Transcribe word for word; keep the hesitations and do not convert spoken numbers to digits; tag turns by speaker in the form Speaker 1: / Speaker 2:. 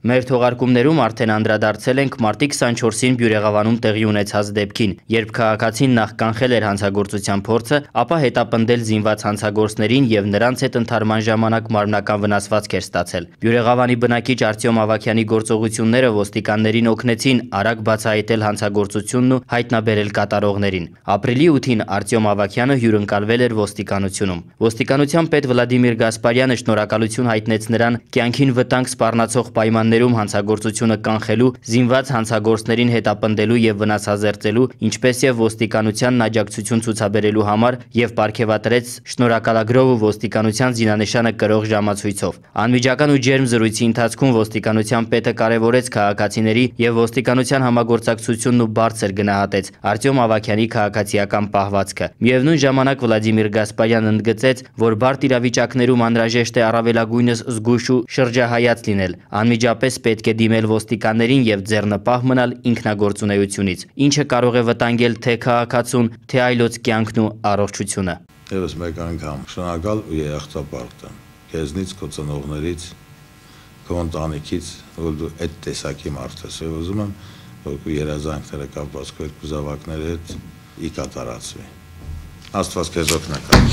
Speaker 1: Մեր թողարկումներում արդեն անդրադարձել ենք մարտի քսանչորսին Բյուրեղավանում տեղի ունեցած դեպքին, երբ քաղաքացին նախ կանխել էր հանցագործության փորձը, ապա հետապնդել զինված հանցագործներին եւ նրանց հետ ընդհարման ժամանակ մարմնական վնասվածք էր ստացել։ Բյուրեղավանի բնակիչ Արտյոմ Ավագյանի գործողությունները ոստիկաններին օգնեցին արագ բացահայտել հանցագործությունն ու հայտնաբերել կատարողներին։ Ապրիլի ութին Արտյոմ Ավագյանը հյուրընկալվել էր ոստիկանությունում։ Ոստիկանության պետ Վլադիմիր Գասպարյանը շնորհակալություն հայտնեց նրան կյանքին վտանգ սպառնացող պայմաններում հանցագործությունը կանխելու, զինված հանցագործներին հետապնդելու եւ վնասազերծելու, ինչպես եւ ոստիկանությանն աջակցություն ցուցաբերելու համար եւ պարգեւատրեց շնորհակալագրով ու ոստիկանության զինանշանը կրող ժամացույցով։ Անմիջական ու ջերմ զրույցի ընթացքում ոստիկանության պետը կարևորեց քաղաքացիների եւ ոստիկանության համագործակցությունն ու բարձր գնահատեց Արտյոմ Ավագյանի քաղաքացիական պահվածքը։ Միևնույն ժամանակ Վլադիմիր Գասպարյանն ընդգծեց, որ բարդ իրավիճակներում անհրաժեշտ է առավելագույնս զգույշ ու շրջահայաց լինել, անմիջապես պետք է դիմել ոստիկաններին եւ ձեռնպահ մնալ ինքնագործունեությունից, ինչը կարող է վտանգել թե քաղաքացուն, թե այլոց կյանքն ու առողջությունը։
Speaker 2: Եվս մեկ անգամ շնորհակալ ու երախտապարտ եմ քեզնից, քո ծնողներից, քո ընտանիքից, որ դու այդ տեսակի մարդ ես, եւ ուզում եմ, որ քո երազանքները կապված քո երկու զավակների հետ ի կատարածվի։ Աստված քեզ օգնի։